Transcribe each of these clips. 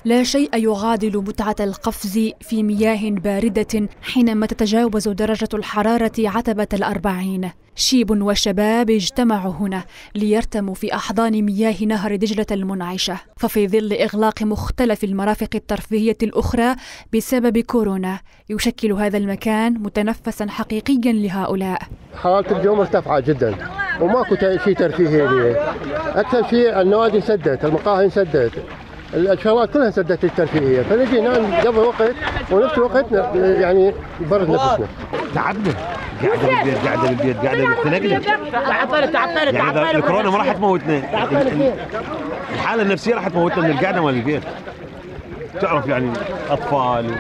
لا شيء يعادل متعة القفز في مياه باردة حينما تتجاوز درجة الحرارة عتبة 40. شيب وشباب اجتمعوا هنا ليرتموا في أحضان مياه نهر دجلة المنعشة، ففي ظل إغلاق مختلف المرافق الترفيهية الأخرى بسبب كورونا يشكل هذا المكان متنفسا حقيقيا لهؤلاء. حالة الجو مرتفعة جدا وماكو شيء ترفيهي هنا، أكثر شيء النوادي سدت، المقاهي سدت، الشغلات كلها سدت الترفيهية، فنجي نقضي وقت ونفس الوقت يعني نبرد نفسنا. تعبنا قاعدة بالبيت تنقلب. يعني الكورونا ما راح تموتنا، الحالة النفسية راح تموتنا من القعدة مال البيت. تعرف يعني أطفال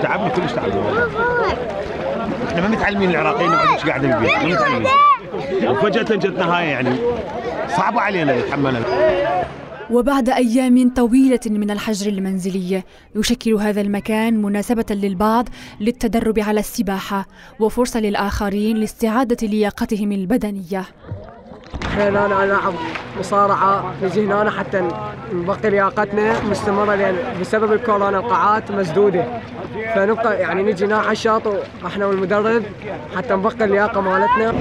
تعبنا كلش تعبنا. احنا ما متعلمين العراقيين نقعد قاعدة بالبيت، ما متعلمين. وفجأة جتنا هاي يعني صعبة علينا نتحملها. وبعد أيام طويلة من الحجر المنزلي يشكل هذا المكان مناسبة للبعض للتدرب على السباحة وفرصة للآخرين لاستعادة لياقتهم البدنية. أنا ألعب مصارعة نجي هنا حتى نبقي لياقتنا مستمرة، لأن بسبب الكورونا القاعات مسدودة، فنبقى يعني نجي هنا على الشاط احنا والمدرب حتى نبقي اللياقة مالتنا.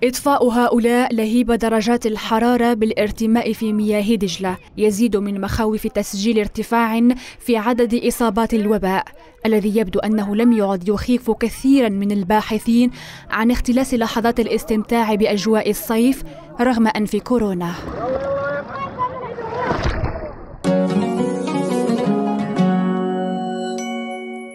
إطفاء هؤلاء لهيب درجات الحرارة بالارتماء في مياه دجلة يزيد من مخاوف تسجيل ارتفاع في عدد إصابات الوباء الذي يبدو أنه لم يعد يخيف كثيرا من الباحثين عن اختلاس لحظات الاستمتاع بأجواء الصيف رغم أنف كورونا.